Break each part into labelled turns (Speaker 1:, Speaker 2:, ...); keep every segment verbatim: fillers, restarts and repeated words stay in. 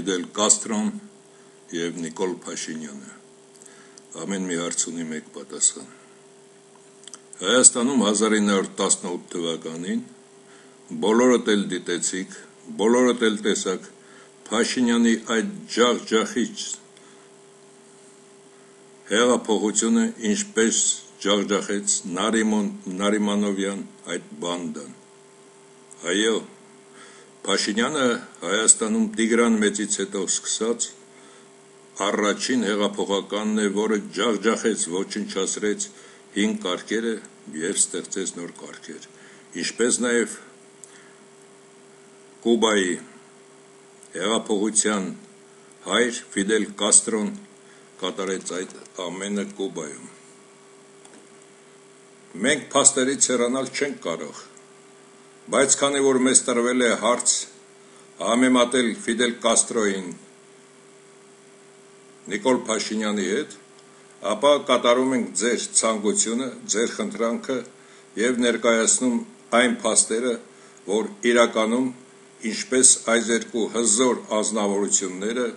Speaker 1: Ֆիդել Կաստրոն և Նիկոլ Փաշինյանը։ Ամեն մի հարց ունի մեկ պատասխան։ Հայաստանում հազար ինը հարյուր տասնութ թվականին բոլորդ էլ դիտեցիք, բոլորդ էլ տեսաք Փաշինյանի այդ ջախջախիչ հեղափոխությունը ինչպես ջախջախեց Նարիմանովյան այդ բանդան։ Այո, Փաշինյանը Հայաստանում Տիգրան Մեծից հետո սկսած առաջին հեղափոխականն է, որը ջախջախեց, ոչնչացրեց հին կարգերը և ստեղծեց նոր կարգեր, ինչպես նաև Կուբայի հեղափոխության հայր Ֆիդել Կաստրոն կատարեց այդ ամենը Կուբայում։ Մենք փաստերից հեռանալ չենք կարող, բայց քանի որ մեզ տրվել է հարց համեմատել Ֆիդել Կաստրոյին Նիկոլ Փաշինյանի հետ, ապա կատարում ենք ձեր ցանկությունը, ձեր խնդրանքը և ներկայացնում այն փաստերը, որ իրականում ինչպես այս երկու հզոր անձնավորությունները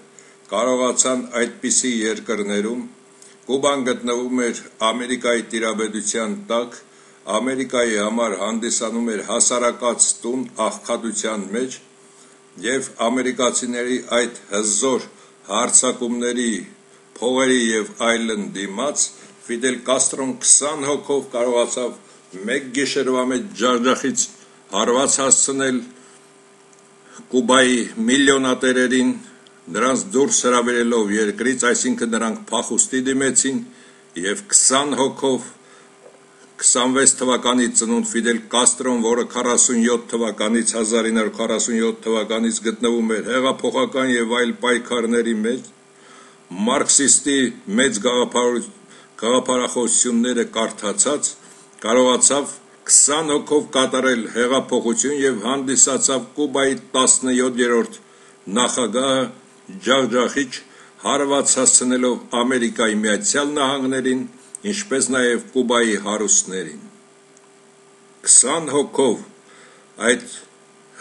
Speaker 1: կարողացան այդպիսի երկրներում, Կուբան գտնվում էր Ամերիկայի տիրապետության տակ, Ամերիկայի համար հանդիսանում էր հասարակած տուն աղքատության մեջ և ամերիկացիների այդ հզոր հարձակումների, փողերի և այլն դիմաց Ֆիդել Կաստրոն քսան հոգով կարողացավ մեկ գիշերվա մեջ ջախջախից հարված հասցնել Կուբայի միլիոնատերերին, նրանց դուրս հրավիրելով երկրից, այսինքն նրանք փախուստի դիմեցին և քսան հոգով քսանվեց թվականի ծնունդ Ֆիդել Կաստրոն, որը քառասունյոթ թվականից հազար ինը հարյուր քառասունյոթ թվականից գտնվում էր հեղափոխական և այլ պայքարների մեջ, մարքսիստի մեծ գաղափարախոսությունները կարդացած, կարողացավ քսան հոգով կատարել հեղափոխություն և հանդիսացավ Կուբայի տասնյոթերորդ նախագահը ջախջախիչ հարված հասցնելով Ամերիկայի Միացյալ Նահանգներին, ինչպես նաև Կուբայի հարուստներին։ Քսան հոգով այդ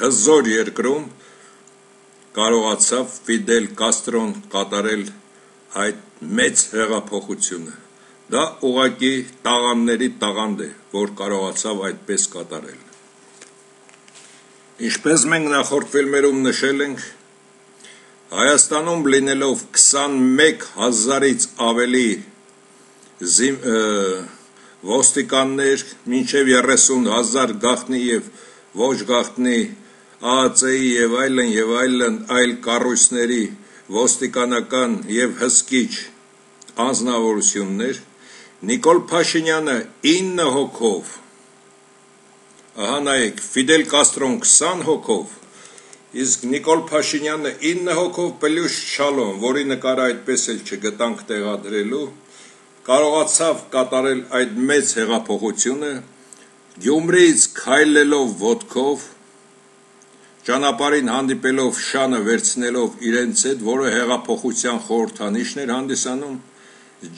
Speaker 1: հզոր երկրում կարողացավ Ֆիդել Կաստրոն կատարել այդ մեծ հեղափոխությունը։ Դա ուղղակի տաղանդների տաղանդ է, որ կարողացավ այդպես կատարել։ Ինչպես մենք նախորդ ֆիլմերում նշել ենք, Հայաստանում լինելով քսանմեկ հազարից ավելի ոստիկաններ, մինչև երեսուն հազար գաղտնի և ոչ գաղտնի ԱԱԾ-ի և այլն և այլն այլ կառույցների ոստիկանական և հսկիչ անձնավորություններ, Նիկոլ Փաշինյանը ինը հոգով, ահա նայեք, Ֆիդել Կաստրոն քսան հոգով, իսկ Նիկոլ Փաշինյանը ինը հոգով պլյուս Չալոն, որի նկարը այդպես էլ չգտանք տեղադրելու, կարողացավ կատարել այդ մեծ հեղափոխությունը, Գյումրիից քայլելով ոտքով, ճանապարհին հանդիպելով շանը վերցնելով իրենց հետ, որը հեղափոխության խորհրդանիշն էր հանդիսանում,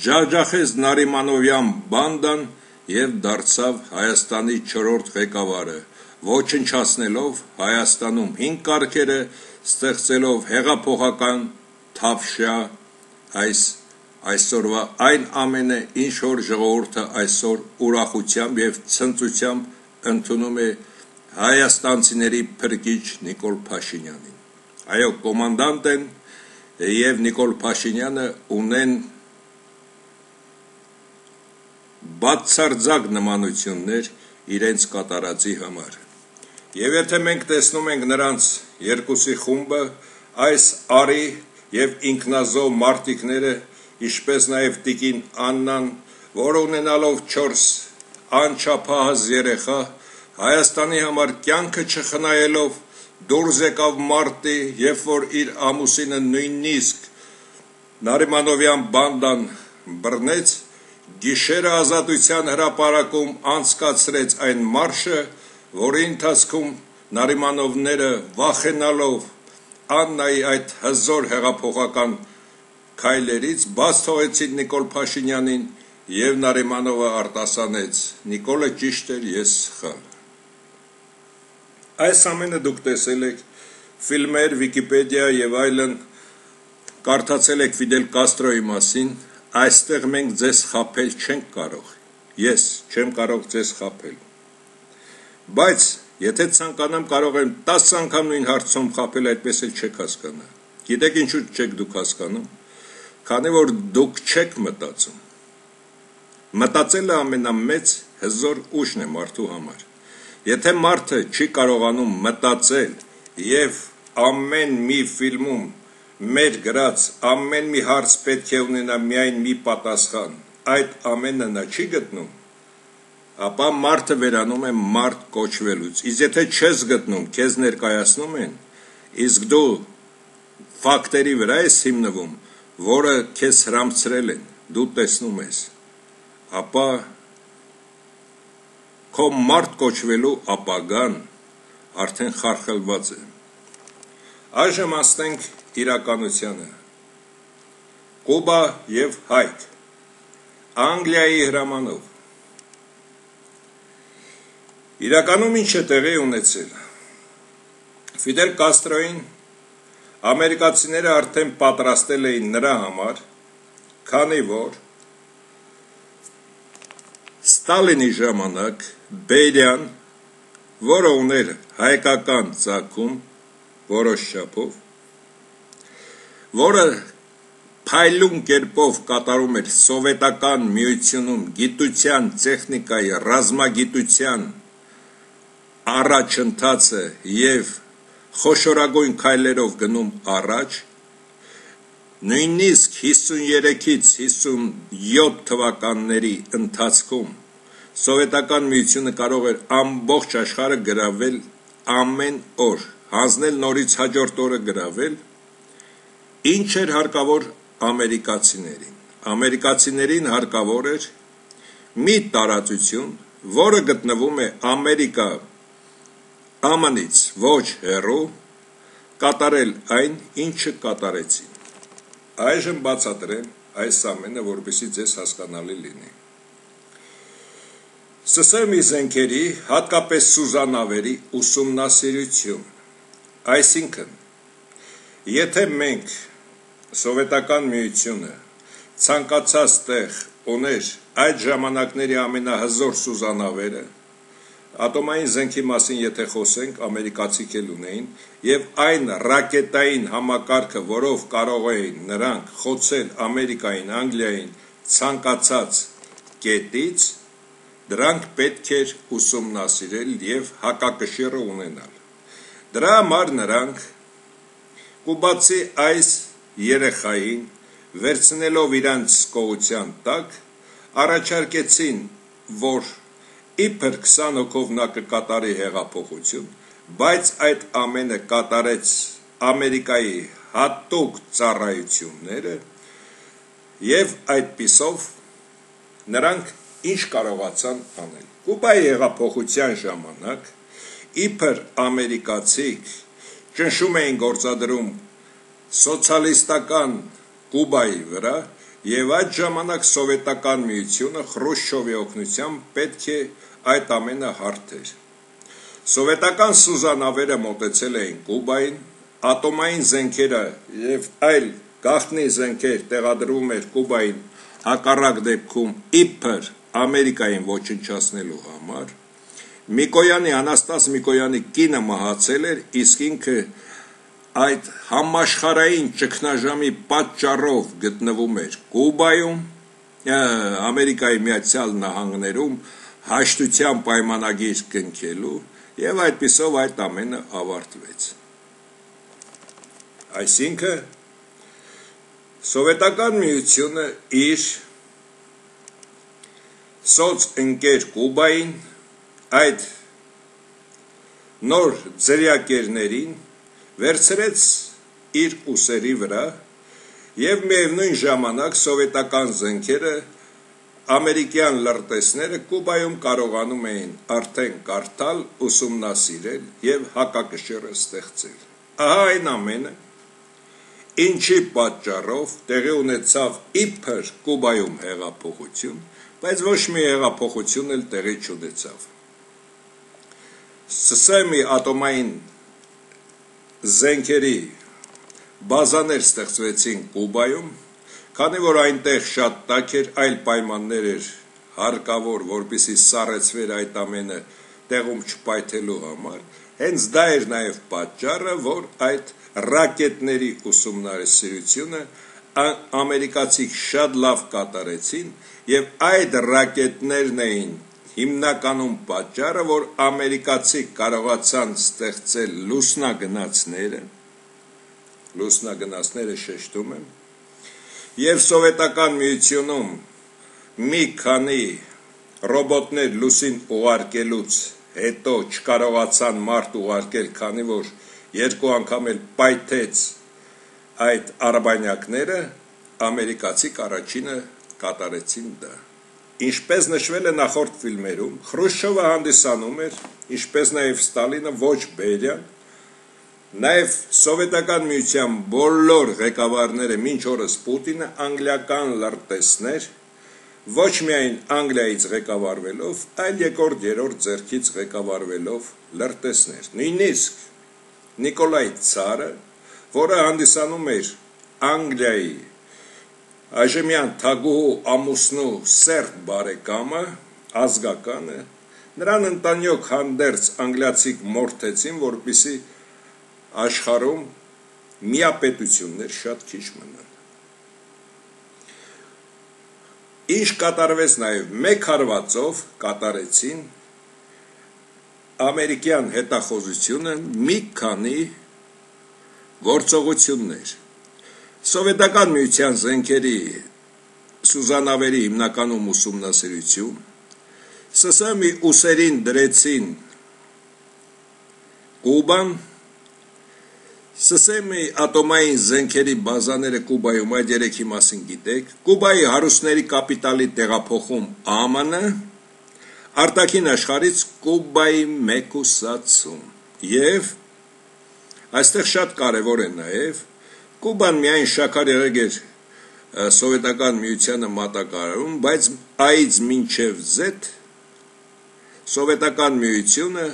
Speaker 1: ջախջախեց Նարիմանովյան բանդան և դարձավ Հայաստանի չորրորդ ղեկավարը, ոչնչացնելով Հայաստանում հին կարգերը, ստեղծելով հեղափոխական թավշյա այս այսօրվա այն ամենը, ինչ որ ժողովուրդը այսօր ուրախությամբ և ցնծությամբ ընդունում է հայաստանցիների փրկիչ Նիկոլ Փաշինյանին։ Այո, կոմանդանտ են և Նիկոլ Փաշինյանը ունեն բացարձակ նմանություններ իրենց կատարածի համար։ Եվ եթե մենք տեսնում ենք նրանց երկուսի խումբը, այս արի և ինքնազոհ մարտիկները, ինչպես նաև տիկին Աննան, որը ունենալով չորս անչափահաս երեխա, Հայաստանի համար կյանքը չխնայելով դուրս եկավ մարտի, երբ որ իր ամուսինը նույնիսկ Նարիմանովյան բանդան բռնեց, գիշերը Ազատության հրապարակում անցկացրեց այն մարշը, որի ընթացքում Նարիմանովները վախենալով Աննայի այդ հզոր հեղափոխական քայլերից բաց թողեցին Նիկոլ Փաշինյանին և Նարիմանովը արտասանեց. Նիկոլը ճիշտ էր, ես սխալ։ Այս ամենը դուք տեսել եք ֆիլմեր, Վիկիպեդիա և այլն կարդացել եք Ֆիդել Կաստրոյի մասին, այստեղ մենք ձեզ խաբել չենք կարող, ես չեմ կարող ձեզ խաբել, բայց եթե ցանկանամ կարող եմ տասը անգամ նույն հարցում խաբել, այդպես էլ չեք հասկանա, գիտեք ինչու չեք դուք հասկանում, քանի որ դուք չեք մտածում, մտածելը ամենամեծ հզոր ուժն է մարդու համար, եթե մարդը չի կարողանում մտածել և ամեն մի ֆիլմում մեր գրած ամեն մի հարց պետք է ունենա միայն մի պատասխան, այդ ամենը նա չի գտնում, ապա մարդը վերանում է մարդ կոչվելուց, իսկ եթե չես գտնում, քեզ ներկայացնում են, իսկ դու ֆակտերի վրա ես հիմնվում, որը քեզ հրամցրել են, դու տեսնում ես, ապա քո մարդ կոչվելու ապագան արդեն խարխլված է։ Այժմ ասենք իրականությանը, Կուբա և Հայք, Անգլիայի հրամանով, իրականում ինչ է տեղի ունեցել, Ֆիդել Կաստրոյին ամերիկացիները արդեն պատրաստել էին նրա համար, քանի որ Ստալինի ժամանակ Բերիան, որը ուներ հայկական ծագում, որոշ չափով, որը փայլուն կերպով կատարում էր սովետական միությունում գիտության, տեխնիկայի, ռազմագիտության առաջընթացը և խոշորագույն քայլերով գնում առաջ, նույնիսկ հիսուներեքից հիսունյոթ թվականների ընթացքում սովետական միությունը կարող էր ամբողջ աշխարհը գրավել ամեն օր, հանձնել նորից հաջորդ օրը գրավել, ինչ էր հարկավոր ամերիկացիներին, ամերիկացիներին հարկավոր էր մի տարածություն, որը գտնվում է Ամերիկա ԱՄՆ-ից ոչ հեռու, կատարել այն, ինչը կատարեցին, այժմ բացատրեմ այս ամենը, որպեսզի ձեզ հասկանալի լինի, Սսրմի զենքերի, հատկապես սուզանավերի ուսումնասիրություն, այսինքն, եթե մենք սովետական միությունը ցանկացած տեղ ուներ այդ ժամանակների ամենահզոր սուզանավերը, ատոմային զենքի մասին եթե խոսենք, ամերիկացիք էլ ունեին, և այն ռակետային համակարգը, որով կարող էին նրանք խոցել Ամերիկային, Անգլիային ցանկացած կետից, դրանք պետք էր ուսումնասիրել և հակակշիռը ունենալ, դրա համար նրանք կուբացի այս երեխային վերցնելով իրանց կողության տակ, առաջարկեցին, որ իբր քսան հոգով նա կկատարի հեղափոխություն, բայց այդ ամենը կատարեց Ամերիկայի հատուկ ծառայությունները և այդպիսով նրանք ինչ կարողացան անել։ Կուբայի հեղափոխության ժամանակ իբր ամերիկացիք ճնշում էին գործադրում սոցիալիստական Կուբայի վրա և այդ ժամանակ սովետական միությունը Խրուշչովի օգնությամբ պետք է այդ ամենը հարթեր։ Սովետական սուզանավերը մոտեցել էին Կուբային, ատոմային զենքերը և այլ գաղտնի զենքեր տեղադրվում էր Կուբային հակառակ դեպքում իբր Ամերիկային ոչնչացնելու համար, Միկոյանի, Անաստաս Միկոյանի կինը մահացել էր, իսկ ինքը այդ համաշխարհային ճգնաժամի պատճառով գտնվում էր Կուբայում, Ամերիկայի Միացյալ Նահանգներում հաշտության պայմանագիր կնքելու և այդպիսով այդ ամենը ավարտվեց։ Այսինքն, Սովետական միությունը իր սոցընկեր Կուբային այդ նոր ձրիակերներին վերցրեց իր ուսերի վրա և միևնույն ժամանակ սովետական զենքերը ամերիկյան լրտեսները Կուբայում կարողանում էին արդեն կարդալ, ուսումնասիրել և հակակշիռը ստեղծել։ Ահա այն ամենը, ինչի պատճառով տեղի ունեցավ իբր Կուբայում հեղափոխություն, բայց ոչ մի հեղափոխություն էլ տեղի չունեցավ։ Սսրմի ատոմային զենքերի բազաներ ստեղծվեցին Կուբայում, քանի որ այնտեղ շատ տաք էր, այլ պայմաններ էր հարկավոր, որպեսզի սառեցվեր այդ ամենը տեղում չպայթելու համար, հենց դա էր նաև պատճառը, որ այդ ռակետների ուսումնասիրությունը ամերիկացիք շատ լավ կատարեցին, եւ այդ ռակետներն էին հիմնականում պատճառը, որ ամերիկացիք կարողացան ստեղծել լուսնագնացները, լուսնագնացները շեշտում եմ, եւ սովետական միությունում մի քանի ռոբոտներ լուսին ուղարկելուց հետո չկարողացան մարդ ուղարկել, քանի որ երկու անգամ էլ պայթեց այդ արբանյակները, ամերիկացիք առաջինը կատարեցին դա։ Ինչպես նշվել է նախորդ ֆիլմերում, Խրուշչովը հանդիսանում էր, ինչպես նաև Ստալինը ոչ բերյան, նաև սովետական միության բոլոր ղեկավարները մինչ օրս Պուտինը անգլիական լրտեսներ, ոչ միայն Անգլիայից ղեկավարվելով, այլ երկրորդ երրորդ ձեռքից ղեկավարվելով լրտեսներ։ Նույնիսկ Նիկոլայ Ցարը, որը հանդիսանում էր Անգլիայի այժմյան թագուհու ամուսնու սերտ բարեկամը, ազգականը, նրան ընտանյոք հանդերձ անգլիացիք մորթեցին, որպեսզի աշխարհում միապետություններ շատ քիչ մնան։ Ինչ կատարվեց նաև մեկ հարվածով կատարեցին ամերիկյան հետախուզությունը մի քանի գործողություններ։ Սովետական միության զենքերի սուզանավերի հիմնականում ուսումնասիրություն, ՍՍՄ-ի ուսերին դրեցին Կուբան, ՍՍՄ-ի ատոմային զենքերի բազաները Կուբայում, այդ երեքի մասին գիտեք, Կուբայի հարուստների կապիտալի տեղափոխում ԱՄՆ, արտաքին աշխարհից Կուբայի մեկուսացում, եւ այստեղ շատ կարևոր է նաև Կուբան միայն շաքար եղեգ էր սովետական միությանը մատակարարում, բայց այից մինչև Z սովետական միությունը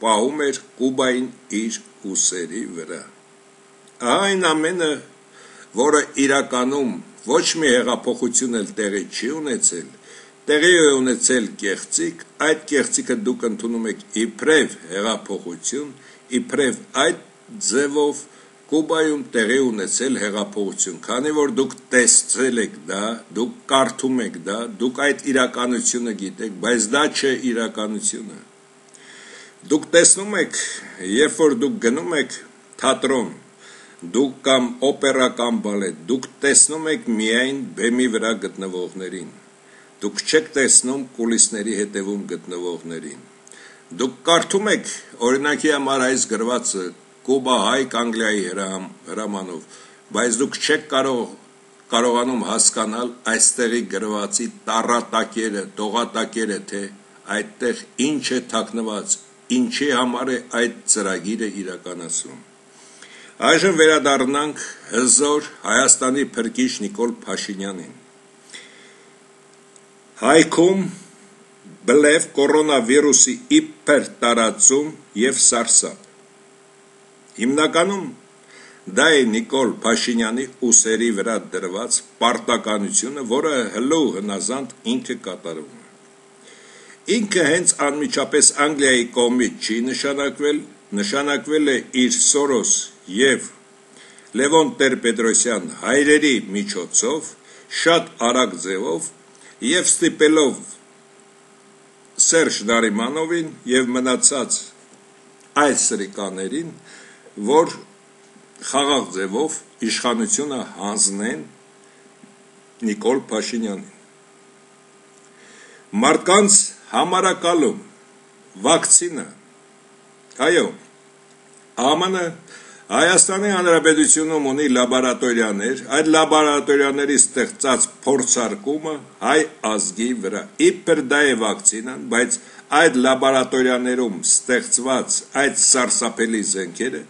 Speaker 1: պահում էր Կուբային իր ուսերի վրա։ Այն ամենը, որը իրականում ոչ մի հեղափոխություն էլ տեղի չի ունեցել, տեղի է ունեցել կեղծիք, այդ կեղծիքը դուք ընդունում եք իբրև հեղափոխություն, իբրև այդ ձևով Կուբայում տեղի ունեցել հեղափոխություն, քանի որ դուք տեսել եք դա, դուք կարդում եք դա, դուք այդ իրականությունը գիտեք, բայց դա չէ իրականությունը։ Դուք տեսնում եք, երբ որ դուք գնում եք թատրոն, դուք կամ օպերա կամ բալետ, դուք տեսնում եք միայն բեմի վրա գտնվողներին, դուք չեք տեսնում կուլիսների հետևում գտնվողներին, դուք կարդում եք օրինակի համար այս գրվածը Կուբա Հայք Անգլիայի հրամանով, բայց դուք չեք կարող կարողանում հասկանալ այստեղի գրվածի տառատակերը, տողատակերը, թե այդտեղ ինչ է թաքնված, ինչի համար է այդ ծրագիրը իրականացում։ Այժմ վերադառնանք հզոր Հայաստանի փրկիչ Նիկոլ Փաշինյանին։ Հայքում բլեվ կորոնավիրուսի իբր տարածում եւ սարսափ։ Հիմնականում դա է Նիկոլ Փաշինյանի ուսերի վրա դրված պարտականությունը, որը հլու հնազանդ ինքը կատարում է։ Ինքը հենց անմիջապես Անգլիայի կողմից չի նշանակվել, նշանակվել է իր Սորոս եւ Լևոն Տեր-Պետրոսյան հայրերի միջոցով, շատ արագ ձևով եւ ստիպելով Սերժ Նարիմանովին եւ մնացած այլ սրիկաներին, որ խաղաղ ձևով իշխանությունը հանձնեն Նիկոլ Փաշինյանին։ Մարդկանց համարակալում, վակցինա, այո, ԱՄՆ Հայաստանի Հանրապետությունում ունի լաբորատորիաներ, այդ լաբորատորիաների ստեղծած փորձարկումը հայ ազգի վրա, իբր դա է վակցինան, բայց այդ լաբորատորիաներում ստեղծված այդ սարսափելի զենքերը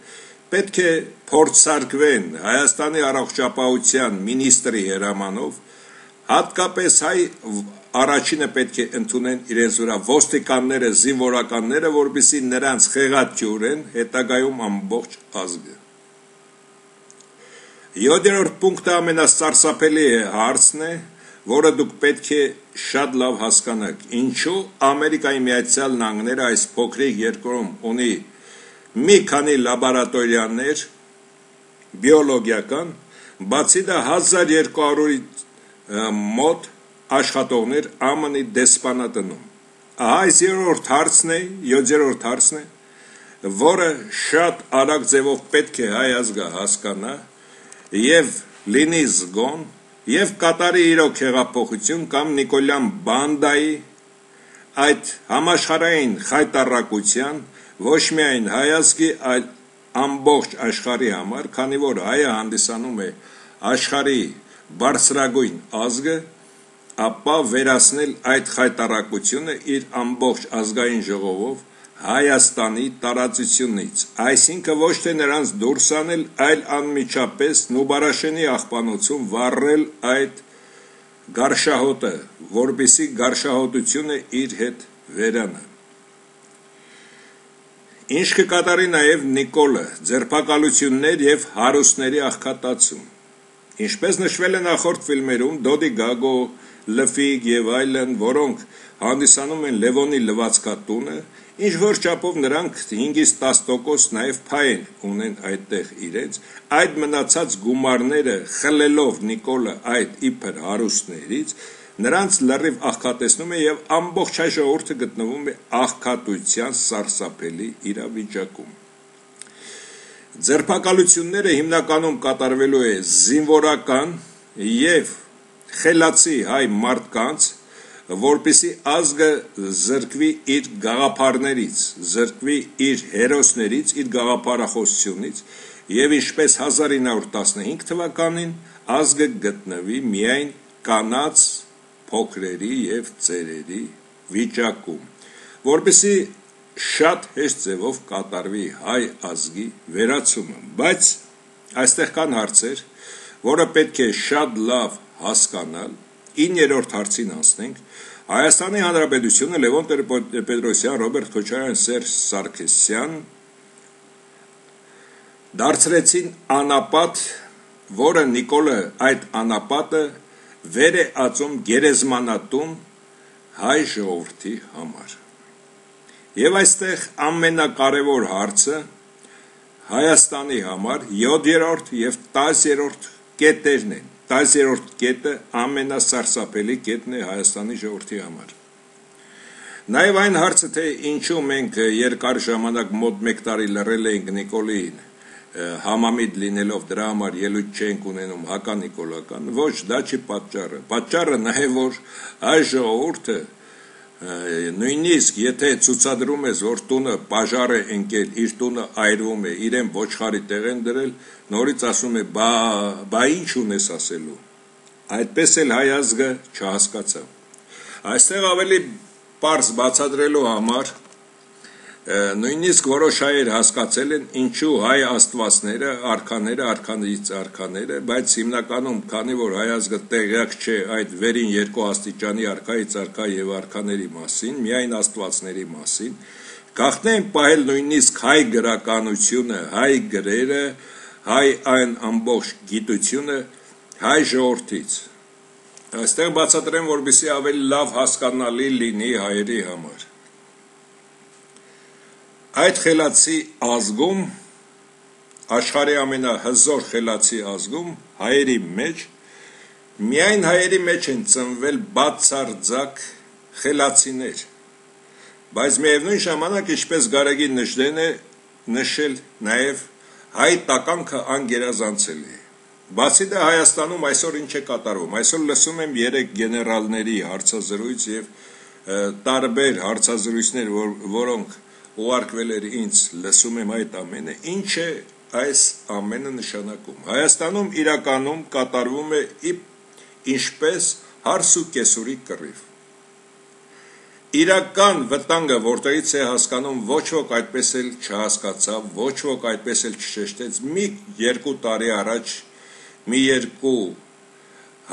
Speaker 1: պետք է փորձարկվեն Հայաստանի առողջապահության մինիստրի հրամանով, հատկապես հայ առաջինը պետք է ընդունեն իրենց վրա ոստիկանները, զինվորականները, որպեսզի նրանց խեղաթյուրեն հետագայում ամբողջ ազգը։ յոթերորդ պունկտը ամենասարսափելի հարցն է, որը դուք պետք է շատ լավ հասկանաք, ինչու Ամերիկայի Միացյալ Նահանգները այս փոքրիկ երկրում ունի մի քանի լաբորատորիաներ բիոլոգիական, բացի դա հազար երկու հարյուր մոտ աշխատողներ ԱՄՆ-ի դեսպանատնում։ Ահա այս երրորդ հարցն է, յոթերորդ հարցն է, որը շատ արագ ձևով պետք է հայ ազգը հասկանա եւ լինի զգոն, եւ կատարի իրոք հեղափոխություն կամ Նիկոլյան բանդայի այդ համաշխարհային խայտառակության ոչ միայն հայ ազգի, այլ ամբողջ աշխարհի համար, քանի որ հայը հանդիսանում է աշխարհի բարձրագույն ազգը, ապա վերացնել այդ խայտառակությունը իր ամբողջ ազգային ժողովով Հայաստանի տարածությունից, այսինքն ոչ թե նրանց դուրս անել, այլ անմիջապես Նուբարաշենի աղբանոցում վառել այդ գարշահոտը, որպեսզի գարշահոտությունը իր հետ վերանա։ Ինչ կկատարի նաև Նիկոլը, ձերբակալություններ եւ հարուստների աղքատացում։ Ինչպես նշվել է նախորդ ֆիլմերում, Դոդի Գագո, Լֆիկ եւ այլն, որոնք հանդիսանում են Լևոնի լվացքատունը, ինչ որ չափով նրանք հինգից տաս տոկոս նաև փայ ունեն այդտեղ իրենց, այդ մնացած գումարները խլելով Նիկոլը այդ իբր հարուստներից, նրանց լրիվ աղքատեցնում է եւ ամբողջ հայ ժողովուրդը գտնվում է աղքատության սարսափելի իրավիճակում։ Ձերբակալությունները հիմնականում կատարվելու է զինվորական եւ խելացի հայ մարդկանց, որպեսի ազգը զրկվի իր գաղափարներից, զրկվի իր հերոսներից, իր գաղափարախոսությունից եւ ինչպես հազար ինը հարյուր տասնհինգ թվականին ազգը գտնվի միայն կանաց, փոքրերի եւ ծերերի վիճակում, որպեսի շատ հեշտ ձևով կատարվի հայ ազգի վերացումը, բայց այստեղ կան հարցեր, որը պետք է շատ լավ հասկանալ, իններորդ հարցին անցնենք, Հայաստանի Հանրապետությունը Լևոն Տեր-Պետրոսյան, Ռոբերտ Քոչարյան, Սերժ Սարգսյան դարձրեցին անապատ, որը Նիկոլը այդ անապատը վեր է ածում գերեզմանատուն հայ ժողովրդի համար։ Եվ այստեղ ամենակարևոր հարցը Հայաստանի համար յոթերորդ եւ տասներորդ կետերն են։ տասներորդ կետը ամենասարսափելի կետն է Հայաստանի ժողովրդի համար։ Նաև այն հարցը, թե ինչու մենք երկար ժամանակ մոտ մեկ տարի լռել էինք Նիկոլին, համամիտ լինելով դրա համար ելույթ չենք ունենում հականիկոլական, ոչ, դա չի պատճառը։ Պատճառը նաև որ հայ ժողովուրդը նույնիսկ եթե ցուցադրում ես, որ տունը պաժար է ընկել, իր տունը այրվում է, իրեն ոչխարի տեղ են դրել, նորից ասում է, բա, բա ինչ ունես ասելու։ Այդպես էլ հայ ազգը չհասկացավ։ Այստեղ ավելի պարզ բացատրելու համար նույնիսկ որոշ հայեր հասկացել են ինչու հայ աստվածները, արքաները, արքաներից արքաները, բայց հիմնականում, քանի որ հայ ազգը տեղյակ չէ այդ վերին երկու աստիճանի արքայից արքա եւ արքաների մասին, միայն աստվածների մասին, գաղտնի են պահել նույնիսկ հայ գրականությունը, հայ գրերը, հայ այն ամբողջ գիտությունը հայ ժողովրդից։ Այստեղ բացատրեմ, որպեսզի ավելի լավ հասկանալի լինի հայերի համար։ Այդ խելացի ազգում, աշխարհի ամենահզոր խելացի ազգում, հայերի մեջ, միայն հայերի մեջ են ծնվել բացարձակ խելացիներ, բայց միևնույն ժամանակ, ինչպես Գարեգին Նժդեն է նշել, նաև հայ տականքը անգերազանցել է։ Բացի դա Հայաստանում այսօր ինչ է կատարվում, այսօր լսում եմ երեք գեներալների հարցազրույց եւ տարբեր հարցազրույցներ, որ, որոնք ուղարկվել էր ինձ, լսում եմ այդ ամենը, ինչ է այս ամենը նշանակում։ Հայաստանում իրականում կատարվում է ինչպես հարս ու կեսուրի կռիվ։ Իրական վտանգը որտեղից է հասկանում, ոչ ոք այդպես էլ չհասկացավ, ոչ ոք այդպես էլ չշեշտեց, մի երկու տարի առաջ մի երկու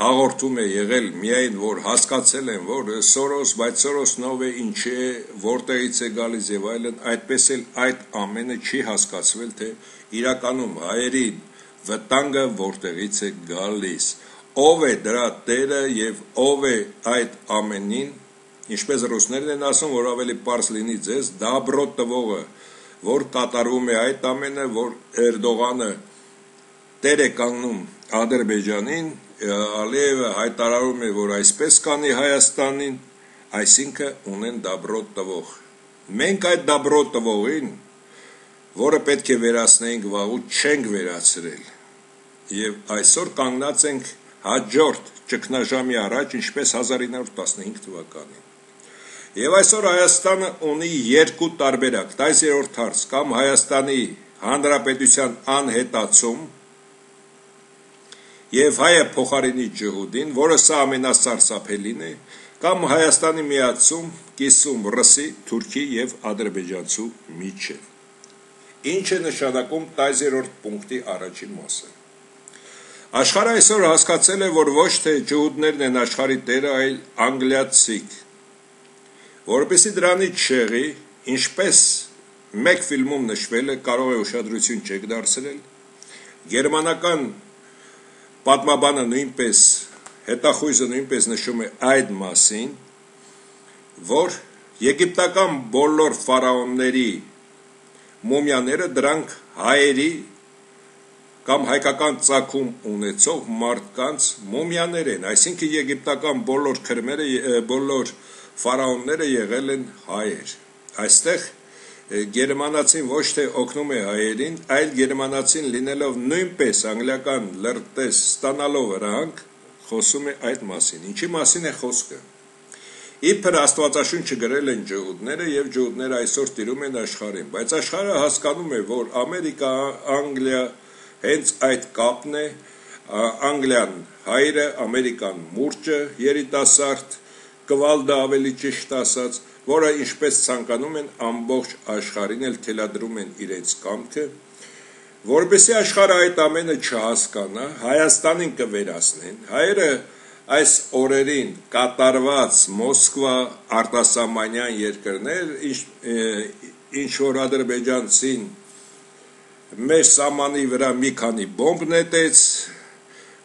Speaker 1: հաղորդում է եղել միայն, որ հասկացել են, որ Սորոս, բայց Սորոսնով է, ինչ է, որտեղից է գալիս եւ այլն, այդպես էլ այդ ամենը չի հասկացվել, թե իրականում հայերի վտանգը որտեղից է գալիս, ով է դրա տերը եւ ով է այդ ամենին, ինչպես ռուսներն են ասում, որ ավելի պարզ լինի ձեզ, դաբրո տվողը, որ կատարում է այդ ամենը, որ Էրդողանը տեր է կանգնում Ադրբեջանին, Ալիևը հայտարարում է, որ այսպես կանի Հայաստանին, այսինքն ունեն դաբրո տվող։ Մենք այդ դաբրո տվողին, որը պետք է վերացնեինք վաղուց, չենք վերացրել։ Եվ այսօր կանգնած ենք հաջորդ ճգնաժամի առաջ, ինչպես հազար ինը հարյուր տասնհինգ թվականին։ Եվ այսօր Հայաստանը ունի երկու տարբերակ, տասներորդ հարց, կամ Հայաստանի Հանրապետության անհետացում եւ հայը փոխարինի ջհուդին, որը սա ամենասարսափելին է, կամ Հայաստանի միացում, կիսում ռսի, թուրքի եւ ադրբեջանցու միջեւ։ Ինչ է նշանակում տասներորդ պունկտի առաջին մասը։ Աշխարհը այսօր հասկացել է, որ ոչ թե ջհուդներն են աշխարհի տերը, այլ անգլիացիք։ Որպեսզի դրանից չեղի, ինչպես մեկ ֆիլմում նշվել է, կարող է ուշադրություն չեք դարձրել, գերմանական պատմաբանը նույնպես, հետախույզը նույնպես նշում է այդ մասին, որ եգիպտական բոլոր ֆարաոնների մումիաները դրանք հայերի կամ հայկական ծագում ունեցող մարդկանց մումիաներ են, այսինքն եգիպտական բոլոր քրմերը, բոլոր ֆարաոնները եղել են հայեր։ Այստեղ գերմանացին ոչ թե օգնում է հայերին, այլ գերմանացին լինելով նույնպես անգլիական լրտես ստանալով rank, խոսում է այդ մասին։ Ինչի մասին է խոսքը։ Իբր Աստվածաշունչը գրել են ջհուդները եւ ջհուդները այսօր տիրում են աշխարհին, բայց աշխարհը հասկանում է, որ Ամերիկա, Անգլիա հենց այդ կապն է, Անգլիան հայրը, Ամերիկան մուրճը, երիտասարդ, կվալդը ավելի ճիշտ ասած, որը ինչպես ցանկանում են ամբողջ աշխարհին էլ թելադրում են իրենց կամքը, որպեսզի աշխարհը այդ ամենը չհասկանա, Հայաստանին կվերացնեն։ Հայերը այս օրերին կատարված Մոսկվա արտասահմանյան երկրներ, ինչ որ ադրբեջանցին մեր սահմանի վրա մի քանի բոմբ նետեց,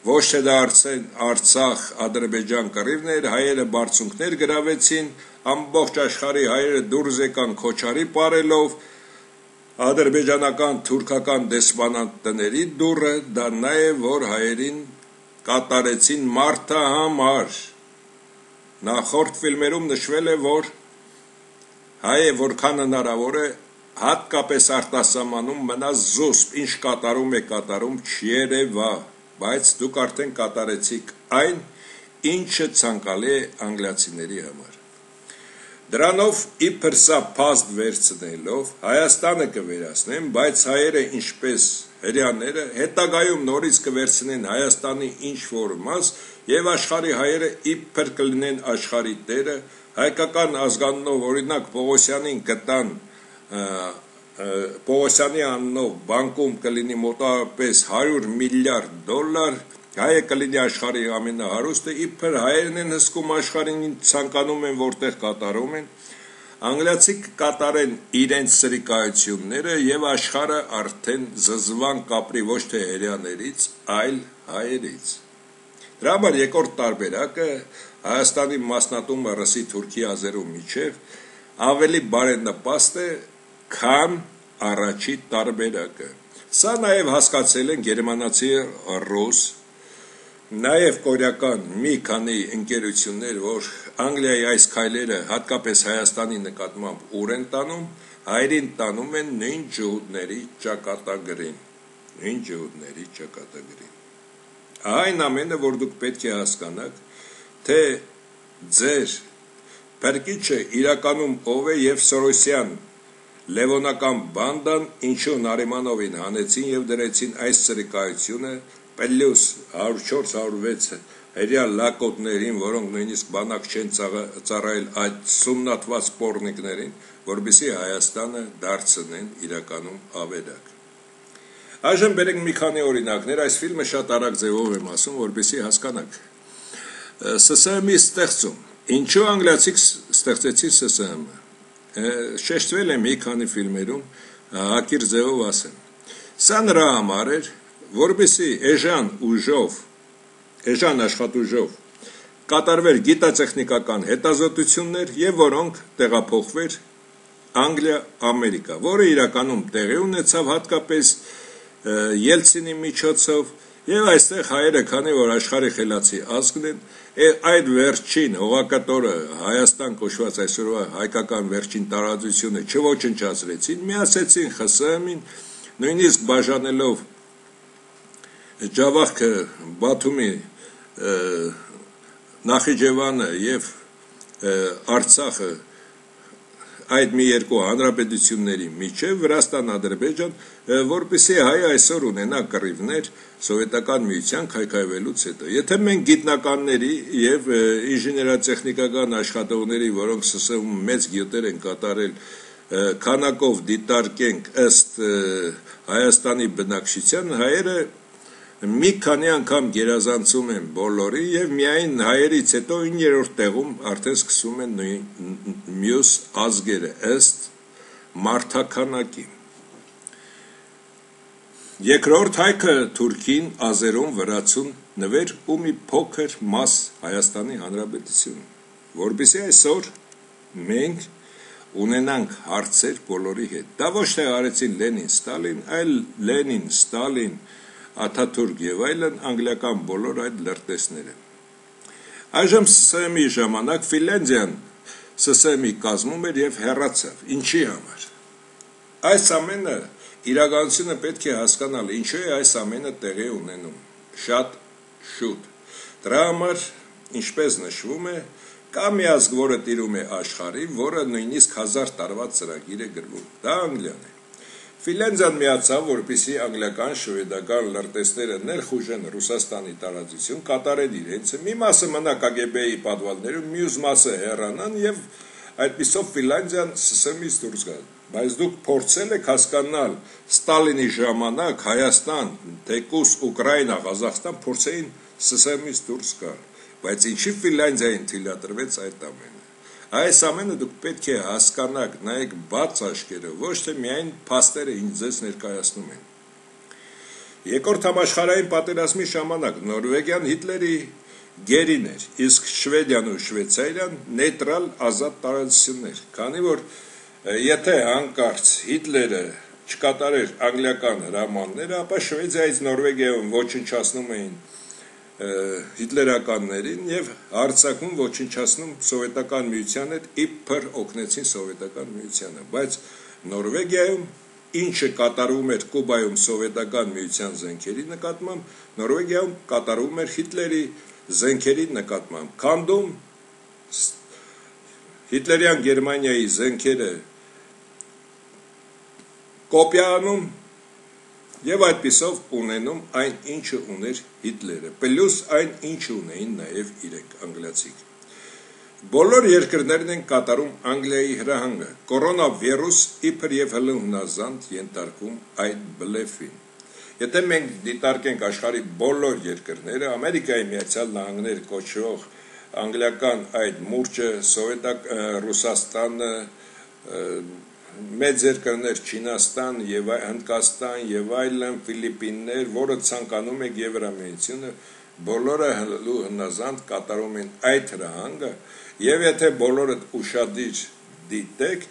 Speaker 1: ոչ թե դա Արցախ, Ադրբեջան կռիվներ, հայերը բարձունքներ գրավեցին, ամբողջ աշխարհի հայերը դուրս եկան քոչարի պարելով, ադրբեջանական, թուրքական դեսպանատների դուրը, դա նա է, որ հայերին կատարեցին մարդահամար։ Նախորդ ֆիլմերում նշվել է, որ հայը որքան հնարավոր է, հատկապես արտասահմանում մնա զուսպ, ինչ կատարում է կատարում, չերևա, բայց դուք արդեն կատարեցիք այն, ինչը ցանկալի է անգլիացիների համար։ Դրանով իբր սա փաստ վերցնելով Հայաստանը կվերացնեն, բայց հայերը ինչպես հрьяաները հետագայում նորից կվերցնեն Հայաստանի ինչ որ մաս եւ աշխարհի հայերը իբր կլինեն աշխարհի տերը, հայկական ազգանունով օրինակ Պողոսյանին կտան Պողոսյանի անունով բանկում կլինի մոտավորապես հարյուր միլիարդ դոլար, հայը կլինի աշխարհի ամենահարուստը, իբր հայերն են հսկում աշխարհին, ցանկանում են որտեղ կատարում են, անգլիացիք կատարեն իրենց սրիկայությունները եւ աշխարհը արդեն զզվան կապրի ոչ թե հрьяաներից, այլ հայերից։ Դրա համար երկրորդ տարբերակը Հայաստանի մասնատումը ռսի, թուրքի, ազերու միջև ավելի բարենպաստ է, քան առաջի տարբերակը։ Սա նաև հասկացել են գերմանացի, ռուս, նաև կորեական մի քանի ընկերություններ, որ Անգլիայի այս քայլերը հատկապես Հայաստանի նկատմամբ ուր են տանում, հայերին տանում են նույն ջհուդների ճակատագրին, նույն ջհուդների ճակատագրին։ Այն ամենը, որ դուք պետք է հասկանաք, թե ձեր փրկիչը իրականում ով է եւ Սորոսյան Լևոնական բանդան ինչու Նարիմանովին հանեցին եւ դրեցին այս սրիկայությունը պլյուս հարյուր չորս հարյուր վեց հրյա լակոտներին, որոնք նույնիսկ բանակ չեն ծառայել այդ սումնատված պորնիկներին, որպեսզի Հայաստանը դարձնեն իրականում ավերակ։ Այժմ բերենք մի քանի օրինակներ, այս ֆիլմը շատ արագ ձևով եմ ասում, որպեսզի հասկանաք։ С С Մ-ի ստեղծում։ Ինչու անգլիացիք ստեղծեցին С С Մ-ը։ Շեշտվել է մի քանի ֆիլմերում, հակիր ձևով ասեմ։ Սա նրա համար էր, որպեսզի էժան ուժով, էժան աշխատուժով կատարվեր գիտատեխնիկական հետազոտություններ եւ որոնք տեղափոխվեր Անգլիա, Ամերիկա, որը իրականում տեղի ունեցավ հատկապես Ելցինի միջոցով եւ այստեղ հայերը, քանի որ աշխարհի խելացի ազգն են, այդ վերջին հողակտորը Հայաստան կոչված այսօրվա հայկական վերջին տարածությունը չոչնչացրեցին, միացեցին ԽՍՀՄ-ին, նույնիսկ բաժանելով Ջավախքը, Բաթումի, Նախիջևանը եւ Արցախը այդ մի երկու հանրապետությունների միջև Վրաստան, Ադրբեջան, որպեսզի հայ այսօր ունենա կռիվներ սովետական միության քայքայվելուց հետո։ Եթե մենք գիտնականների եւ ինժեներատեխնիկական աշխատողների, որոնք ՍՍՀ-ում մեծ գյուտեր են կատարել, քանակով դիտարկենք ըստ Հայաստանի բնակչության, հայերը մի քանի անգամ գերազանցում են բոլորի եւ միայն հայերից հետո իններորդ տեղում արդեն սկսում են մյուս ազգերը ըստ մարդաքանակի։ Երկրորդ հայքը թուրքին, ազերուն, վրացուն նվեր ու մի փոքր մաս Հայաստանի Հանրապետություն, որպեսզի այսօր մենք ունենանք հարցեր բոլորի հետ։ Դա ոչ թե արեցին Լենին, Ստալին, այլ Լենին, Ստալին, Աթաթուրք եւ այլն անգլիական բոլոր այդ լրտեսները։ Այժմ ՍՍՀ-ի ժամանակ Ֆինլանդիան ՍՍՀ-ի կազմում էր եւ հեռացավ։ Ինչի համար։ Այս ամենը իրականությունը պետք է հասկանալ, ինչու է այս ամենը տեղի ունենում։ Շատ շուտ։ Դրա համար, ինչպես նշվում է, կա մի ազգ, որը տիրում է աշխարհի, որը նույնիսկ հազար տարվա ծրագիր է գրվում։ Դա Անգլիան է։ Ֆինլանդիան միացավ, որպեսզի անգլիական, շվեդական լրտեսները ներխուժեն Ռուսաստանի տարածություն, կատարեն իրենցը, մի մասը մնա ԿԳԲ-ի պատվալներում, մյուս մասը հեռանան եւ այդպիսով Ֆինլանդիան ՍՍՀ-ից դուրս գա։ Բայց դուք փորձել եք հասկանալ Ստալինի ժամանակ Հայաստան, թեկուզ Ուկրաինա, Ղազախստան փորձեին ՍՍՀ-ից դուրս գալ, բայց ինչի Ֆինլանդիային թույլատրվեց այդ ամենը։ Այս ամենը դուք պետք է հասկանաք, նայեք բաց աչքերով, ոչ թե միայն փաստերը ինձ ձեզ ներկայացնում են։ Երկրորդ համաշխարհային պատերազմի ժամանակ Նորվեգիան Հիտլերի գերին էր, իսկ Շվեդիան ու Շվեյցարիան նեյտրալ ազատ տարածություններ, քանի որ եթե հանկարծ Հիտլերը չկատարեր անգլիական հրամանները, ապա Շվեդիայից Նորվեգիայում ոչնչացնում էին հիտլերականներին եւ Արցախում ոչնչացնում սովետական միության հետ իբր օգնեցին սովետական միությանը, բայց Նորվեգիայում ինչը կատարվում էր Կուբայում սովետական միության զենքերի նկատմամբ, Նորվեգիայում կատարվում էր Հիտլերի զենքերի նկատմամբ։ Քանդում Հիտլերյան Գերմանիայի զենքերը կոպիանում եւ այդպիսով ունենում այն ինչը ուներ Հիտլերը, պլյուս այն ինչը ունեին նաեւ իրենք անգլիացիք։ Բոլոր երկրներն են կատարում Անգլիայի հրահանգը։ Կորոնավիրուս իբր եւ հլնազանդ ենթարկում այդ բլեֆին։ Եթե մենք դիտարկենք աշխարհի բոլոր երկրները, Ամերիկայի Միացյալ Նահանգներ կոչվող անգլիական այդ մուրճը, սովետակ Ռուսաստանը, մեծ երկրներ Չինաստան եւ Հնդկաստան եւ այլն, Ֆիլիպիններ, որը ցանկանում է Եվրամիությունը, բոլորը հնազանդ կատարում են այդ հրահանգը, եւ եթե բոլորը ուշադիր դիտեք,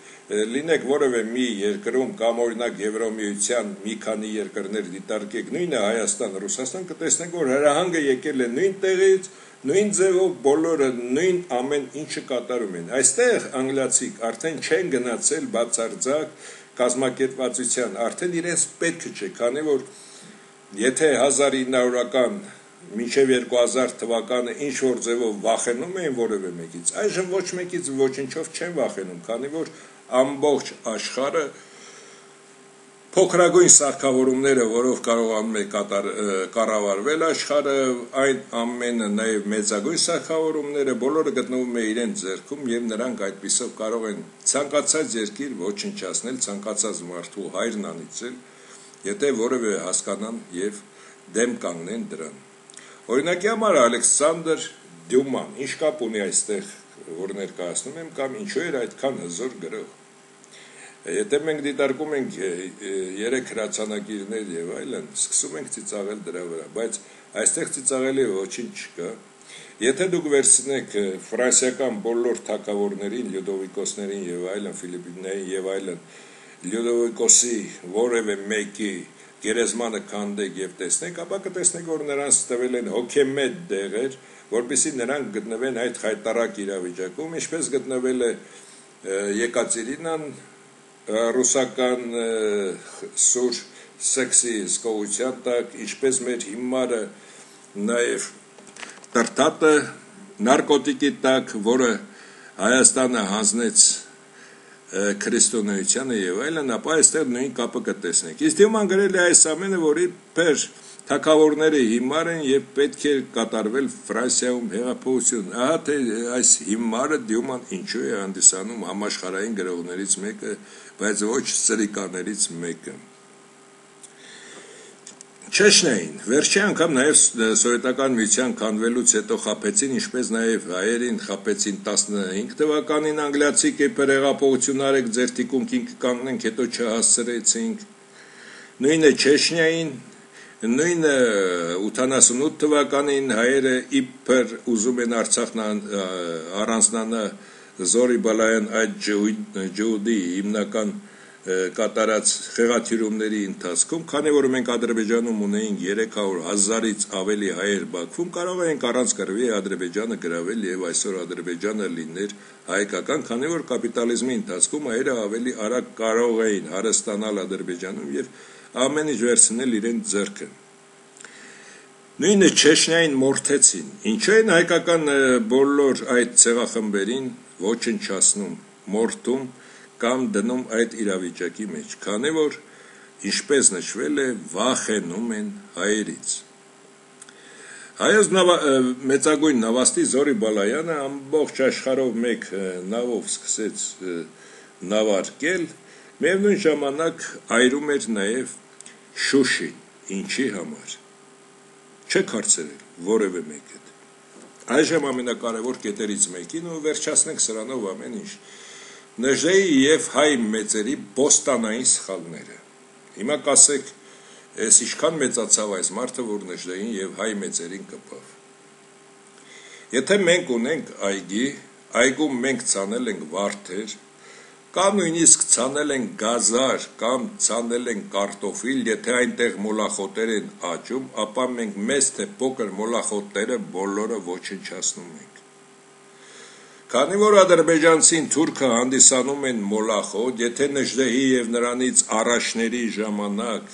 Speaker 1: լինեք որևէ մի երկրում կամ օրինակ Եվրամիության մի քանի երկրներ դիտարկեք, նույնը Հայաստան, Ռուսաստան, կտեսնեք, որ հրահանգը եկել է նույն տեղից, նույն ձևով բոլորը նույն ամեն ինչը կատարում են։ Այստեղ անգլիացիք արդեն չեն գնացել բացարձակ կազմակերպվածության, արդեն իրենց պետք չէ, քանի որ եթե հազար ինը հարյուրական մինչև երկու հազար թվականը ինչ որ ձևով վախենում էին որևէ մեկից, այժմ ոչ մեկից ոչնչով չեն վախենում, քանի որ ամբողջ աշխարհը փոքրագույն սարքավորումները, որով կարողանում է կառավարվել աշխարհը, այն ամենը նաև մեծագույն սարքավորումները բոլորը գտնվում է իրենց ձեռքում եւ նրանք այդպիսով կարող են ցանկացած երկիր ոչնչացնել, ցանկացած մարդու հայրն անիծել, եթե որևէ հասկանան եւ դեմ կանգնեն դրան։ Օրինակի համար Ալեքսանդր Դյուման, ինչ կապ ունի այստեղ, որ ներկայացնում եմ, կամ ինչու էր այդքան հզոր գրող։ Եթե մենք դիտարկում ենք երեք հրացանակիրներ եւ այլն, սկսում ենք ծիծաղել դրա վրա, բայց այստեղ ծիծաղելի ոչինչ չկա։ Եթե դուք վերցնեք ֆրանսիական բոլոր թագավորներին, Լյուդովիկոսներին եւ այլն, Ֆիլիպինային եւ այլն, Լյուդովիկոսի որևէ մեկի գերեզմանը քանդեք եւ տեսնեք, ապա կտեսնեք, որ նրանց տվել են հոգեմետ դեղեր, որպեսզի նրանք գտնվեն այդ խայտարակ իրավիճակում, ինչպես գտնվել է Եկատերինան ռուսական սուր սեքսի սկողության տակ, ինչպես մեր հիմարը նաև Տրտատը նարկոտիկի տակ, որը Հայաստանը հանձնեց քրիստոնեությանը եւ այլն, ապա այստեղ նույն կապը կտեսնեք։ Իսկ դիման գրել է այս ամենը, որի փեր թագավորները հիմար են եւ պետք է կատարվել Ֆրանսիայում հեղափոխություն։ Ահա թե այս հիմարը դիման ինչու է հանդիսանում համաշխարհային գրողներից մեկը, բայց ոչ սրիկաներից մեկը։ Չեչնիային վերջի անգամ նաև սովետական միության քանդվելուց հետո խաբեցին, ինչպես նաև հայերին խաբեցին տասնհինգ թվականին անգլիացի կեպեր հեղափոխություն արեք, ձեր թիկունքին կկանգնենք, հետո չհասցրեցինք։ Նույնը Չեչնիային, նույնը ութանասունութ թվականին հայերը իբր ուզում են Արցախն առանձնանա Զորի Բալայան այդ ջհուդի հիմնական կատարած խեղաթյուրումների ընթացքում, քանի որ մենք Ադրբեջանում ունեինք երեք հարյուր հազարից ավելի հայեր Բաքվում, կարող ենք առանց կռվի Ադրբեջանը գրավել եւ այսօր Ադրբեջանը լիներ հայկական, քանի որ կապիտալիզմի ընթացքում հայերը ավելի արագ կարող էին հարստանալ Ադրբեջանում եւ ամեն ինչ վերցնել իրենց ձեռքը։ Նույնը Չեչնիային մորթեցին, ինչու են հայկական բոլոր այդ ցեղախմբերին ոչնչացնում, մորթում կամ դնում այդ իրավիճակի մեջ, քանի որ ինչպես նշվել է, վախենում են հայերից։ Հայոց մեծագույն նավաստի Զորի Բալայանը ամբողջ աշխարհով մեկ նավով սկսեց նավարկել, միևնույն ժամանակ այրում էր նաև Շուշին, ինչի համար։ Չեք հարցրել որևէ մեկը։ Այժմ ամենակարևոր կետերից մեկին ու վերջացնենք սրանով ամեն ինչ։ Նժդեի եւ հայ մեծերի բոստանային սխալները։ Հիմա կասեք, ես ինչքան մեծացավ այս մարդը, որ Նժդեին եւ հայ մեծերին կպավ։ Եթե մենք ունենք այգի, այգում մենք ցանել ենք վարդեր, կամ նույնիսկ ցանել ենք գազար, կամ ցանել ենք կարտոֆիլ, եթե այնտեղ մոլախոտեր են աճում, ապա մենք մեծ թե փոքր մոլախոտները բոլորը ոչնչացնում ենք։ Քանի որ ադրբեջանցին թուրքը հանդիսանում են մոլախոտ, եթե Նժդեհի եւ նրանից առաջների ժամանակ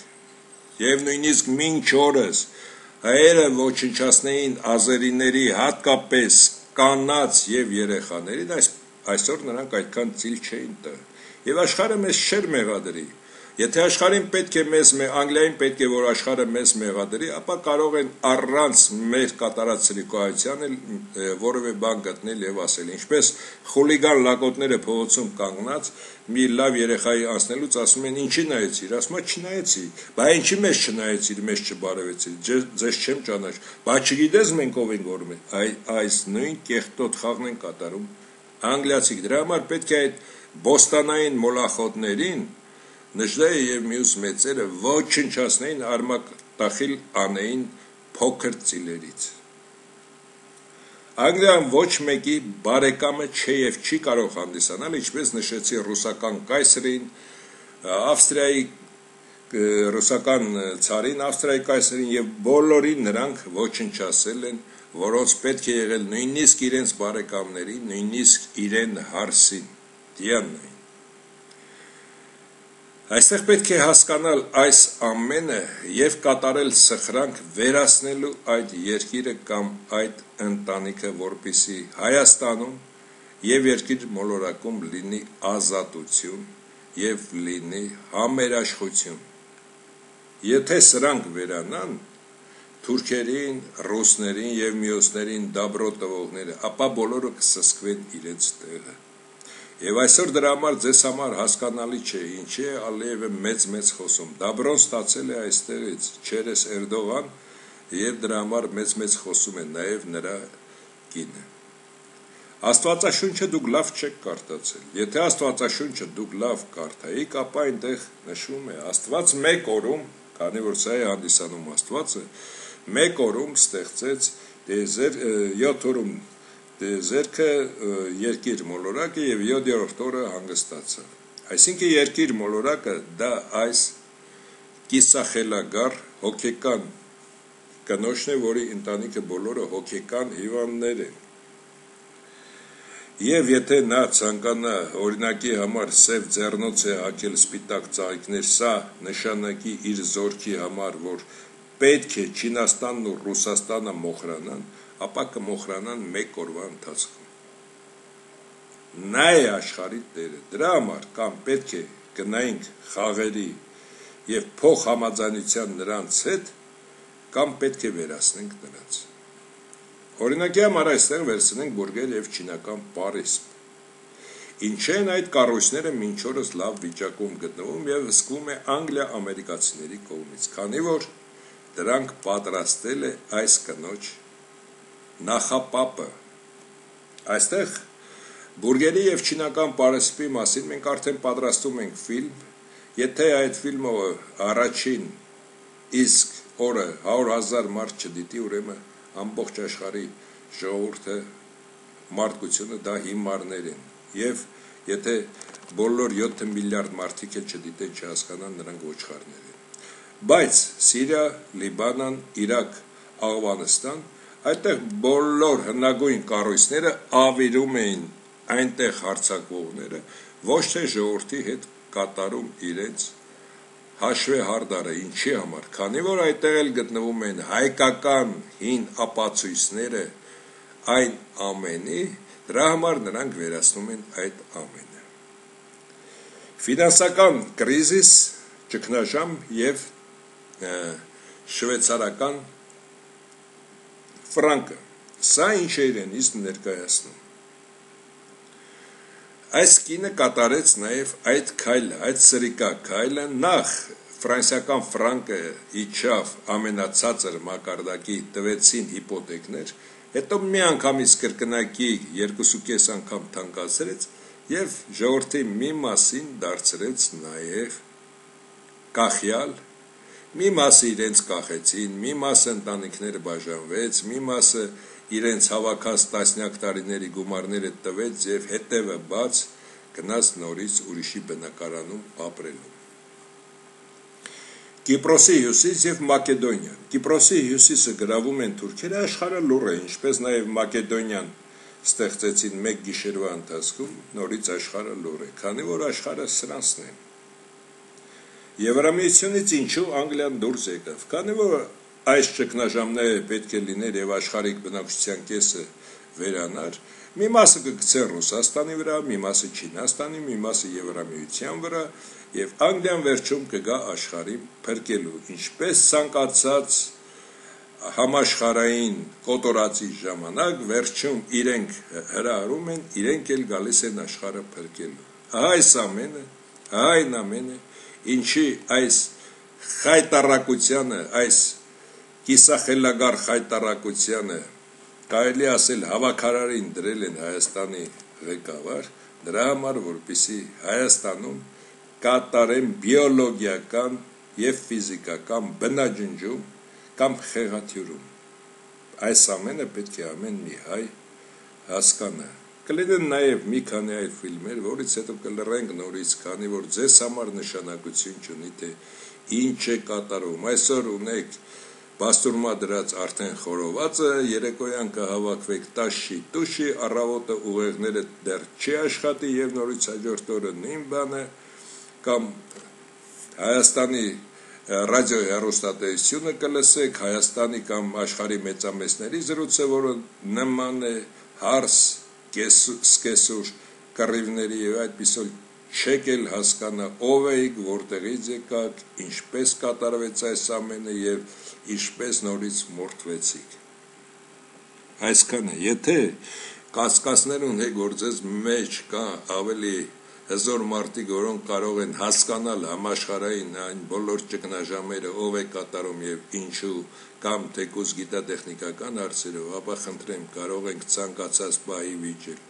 Speaker 1: եւ նույնիսկ մինչ օրս հայերը ոչնչացնեին ազերիների, հատկապես կանանց եւ երեխաներին, այս այսօր նրանք այդքան ծիլ չէին տա։ Եվ աշխարհը մեզ չէր մեղադրի։ Եթե աշխարհին պետք է մեզ Անգլիային պետք է որ աշխարհը մեզ մեղադրի, ապա կարող են առանց մեր կատարած սրիկայության էլ որևէ բան գտնել եւ ասել, ինչպես խուլիգան լակոտները փողոցում կանգնած մի լավ երեխայի անցնելուց ասում են ինչի նայեցիր, ասում է չնայեցի, բա ինչի մեզ չնայեցիր, մեզ չբարևեցիր, ձեզ չեմ ճանաչ, բա չգիտես մենք ով ենք որ մենք, այ այս նույն կեղտոտ խաղն են կատարում անգլիացիք, դրա համար պետք է այդ բոստանային մոլախոտներին Նժդեհը եւ մյուս մեծերը ոչնչացնեին, արմատախիլ անեին փոքր ծիլերից։ Անգլիան ոչ մեկի բարեկամը չէ եւ չի կարող հանդիսանալ, ինչպես նշեցի ռուսական կայսրին, Ավստրիայի ռուսական ցարին, Ավստրիայի կայսրին եւ բոլորին նրանք ոչնչացել են, որոնց պետք է եղել նույնիսկ իրենց բարեկամներին, նույնիսկ իրեն հարսին, դիանային։ Այստեղ պետք է հասկանալ այս ամենը եւ կատարել սխրանք վերացնելու այդ երկիրը կամ այդ ընտանիքը, որպեսզի Հայաստանում եւ երկիր մոլորակում լինի ազատություն եւ լինի համերաշխություն։ Եթե սրանք վերանան, թուրքերին, ռուսներին եւ մյուսներին դաբրո տվողները, ապա բոլորը կսսկվեն իրենց տեղը։ Եվ այսօր դրա համար ձեզ համար հասկանալի չէ, ինչի է Ալիևը մեծ-մեծ խոսում։ Դաբրոն ստացել է այստեղից, Չերես Էրդողան, եւ դրա համար մեծ-մեծ խոսում է նաև նրա կինը։ Աստվածաշունչը դուք լավ չեք կարդացել։ Եթե Աստվածաշունչը դուք լավ կարդայիք, ապա այնտեղ նշվում է Աստված մեկ օրում, քանի որ սա է հանդիսանում Աստվածը, մեկ օրում ստեղծեց դեզեր յոթ օրում դեզերքը երկիր մոլորակը եւ յոթերորդ օրը հանգստացավ։ Այսինքն երկիր մոլորակը դա այս կիսախելագար հոգեկան կնոջն է, որի ընտանիքը բոլորը հոգեկան հիվանդներ են։ Եվ եթե նա ցանկանա օրինակի համար սև ձեռնոց է հագել սպիտակ ծաղիկներ, սա նշանակի իր զորքի համար, որ պետք է Չինաստանն ու Ռուսաստանը մոխրանան, ապա կմոխրանան մեկ օրվա ընթացքում։ Նա է աշխարհի տերը, դրա համար կամ պետք է գնայինք խաղերի եւ փող համաձայնության նրանց հետ, կամ պետք է վերացնենք նրանց։ Օրինակի համար այստեղ վերցնենք բուրգեր եւ չինական պարիսպ։ Ինչ են այդ կառույցները մինչ օրս լավ վիճակում գտնվում եւ հսկվում է Անգլիա ամերիկացիների կողմից, քանի որ դրանք պատրաստել է այս կնոջ նախապապը։ Այստեղ բուրգերի եւ չինական պարիսպի մասին մենք արդեն պատրաստում ենք ֆիլմ, եթե այդ ֆիլմը առաջին իսկ օրը հարյուր հազար մարդ չդիտի, ուրեմն ամբողջ աշխարհի ժողովուրդը մարդկությունը դա հիմարներ են եւ եթե բոլոր յոթ միլիարդ մարդիկ էլ չդիտեն, չհասկանան, նրանք ոչխարներ են։ Բայց Սիրիա, Լիբանան, Իրաք, Աֆղանստան, այդտեղ բոլոր հնագույն կառույցները ավիրում էին այնտեղ հարձակվողները, ոչ թե ժողովրդի հետ կատարում իրենց հաշվե հարդարը, ինչի համար, քանի որ այդտեղ էլ գտնվում են հայկական հին ապացույցները այն ամենի, դրա համար նրանք վերացնում են այդ ամենը։ Ֆինանսական կրիզիս, ճգնաժամ եւ շվեյցարական ֆրանկը, սա ինչ է իրենից ներկայացնում։ Այս կինը կատարեց նաև այդ քայլը, այդ սրիկա քայլը, նախ ֆրանսիական ֆրանկը իջավ ամենացածր մակարդակի, տվեցին հիպոթեկներ, հետո մի անգամից կրկնակի երկուսուկես անգամ թանկացրեց եւ ժողովրդի մի մասին դարձրեց նաև կախյալ, մի մասը իրենց կախեցին, մի մասը ընտանիքները բաժանվեց, մի մասը իրենց հավաքած տասնյակ տարիների գումարները տվեց եւ հետևը բաց գնաց նորից ուրիշի բնակարանում ապրելու։ Կիպրոսի հյուսիս եւ Մակեդոնիա։ Կիպրոսի հյուսիսը գրավում են թուրքերը, աշխարհը լուռ է, ինչպես նաեւ Մակեդոնիան ստեղծեցին մեկ գիշերվա ընթացքում, նորից աշխարհը լուռ է, քանի որ աշխարհը սրանցն է։ Եվրամիությունից ինչու Անգլիան դուրս եկավ, քանի որ այս ճգնաժամները պետք է լիներ եւ աշխարհիկ բնակչության կեսը վերանար, մի մասը կգցեն Ռուսաստանի վրա, մի մասը Չինաստանի, մի մասը Եվրամիության վրա եւ Անգլիան վերջում կգա աշխարհին փրկելու, ինչպես ցանկացած համաշխարհային կոտորածի ժամանակ վերջում իրենք հրահրում են, իրենք էլ գալիս են աշխարհը փրկելու։ Ահա այս ամենը, ահա այն ամենը, ինչի այս խայտարակությանը, այս կիսախելագար խայտարակությանը կարելի ասել հավաքարարին դրել են Հայաստանի ղեկավար, դրա համար, որպեսզի Հայաստանում կատարեն բիոլոգիական եւ ֆիզիկական բնաջնջում կամ խեղաթյուրում։ Այս ամենը պետք է ամեն մի հայ հասկանա։ Կլինեն նաեւ մի քանի այլ ֆիլմեր, որից հետո կլռենք նորից, քանի որ ձեզ համար նշանակություն չունի, թե ինչ է կատարում։ Այսօր ունեք Բաստուրմա դրած արդեն խորովածը, երեկոյան կհավաքվեք տաշի տուշի, առավոտը ուղեղները դեռ չի աշխատի եւ նորից հաջորդ օրը նույն բանը, կամ Հայաստանի ռադիո հեռուստատեսությունը կլսեք, Հայաստանի կամ աշխարհի մեծամեծների զրույցը, որը նման է հարս, սկեսուր, կռիվների եւ այդպիսով չեք էլ հասկանա ով եք, որտեղից եկաք, ինչպես կատարվեց այս ամենը եւ ինչպես նորից մորթվեցիք։ Այսքանը, եթե կասկածներ ունեք, որ ձեզ մեջ կա ավելի հզոր մարդիկ, որոնք կարող են հասկանալ համաշխարհային այն բոլոր ճգնաժամերը, ով է կատարում եւ ինչու, կամ թեկուզ գիտատեխնիկական հարցերով, ապա խնդրեմ, կարող ենք ցանկացած բայի վիճել